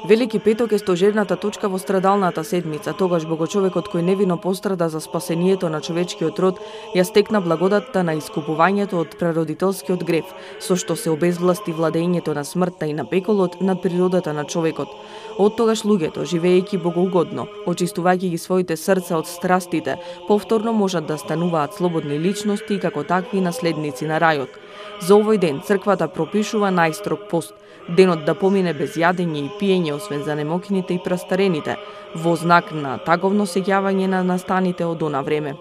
Велики петок е стожерната точка во страдалната седмица, тогаш Богочовекот кој невино пострада за спасението на човечкиот род, ја стекна благодатта на искупувањето од прародителскиот грев, со што се обезвласти владењето на смртта и на пеколот над природата на човекот. Од тогаш луѓето, живеејќи богоугодно, очистувајќи ги своите срца од страстите, повторно можат да стануваат слободни личности и како такви наследници на рајот. За овој ден црквата пропишува најстрог пост, денот да помине без јадење и пиење освен за немокините и прастарените, во знак на таговно сеќавање на настаните од она време.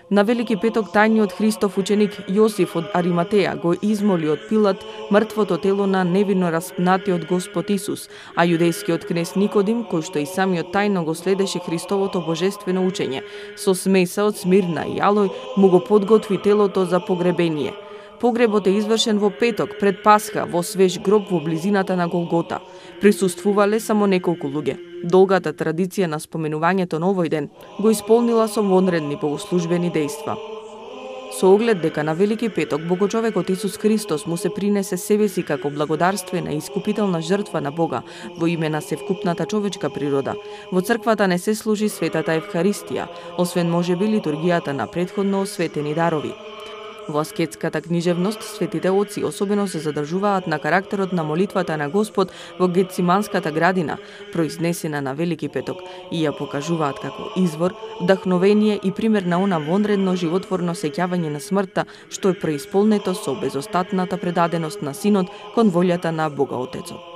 На Велики петок тајниот Христов ученик Јосиф од Ариматеја го измоли од Пилат мртвото тело на невино распнатиот Господ Исус, а јудејскиот кнез Никодим, кој што и самиот тајно го следеше Христовото божествено учење, со смеса од смирна и алој му го подготви телото за погребение. Погребот е извршен во петок пред Пасха во свеж гроб во близината на Голгота. Присуствувале само неколку луѓе. Долгата традиција на споменувањето на овој ден го исполнила со вонредни богослужбени дејства. Со оглед дека на Велики петок Богочовекот Исус Христос му се принесе себе си како благодарствена и искупителна жртва на Бога во име на севкупната човечка природа, во црквата не се служи светата Евхаристија, освен можеби литургијата на претходно осветени дарови. Во аскетската книжевност, светите оци особено се задржуваат на карактерот на молитвата на Господ во Гетсиманската градина, произнесена на Велики петок, и ја покажуваат како извор, вдахновение и пример на она вонредно животворно сеќавање на смртта, што е преисполнето со безостатната предаденост на Синот кон волјата на Бога Отецот.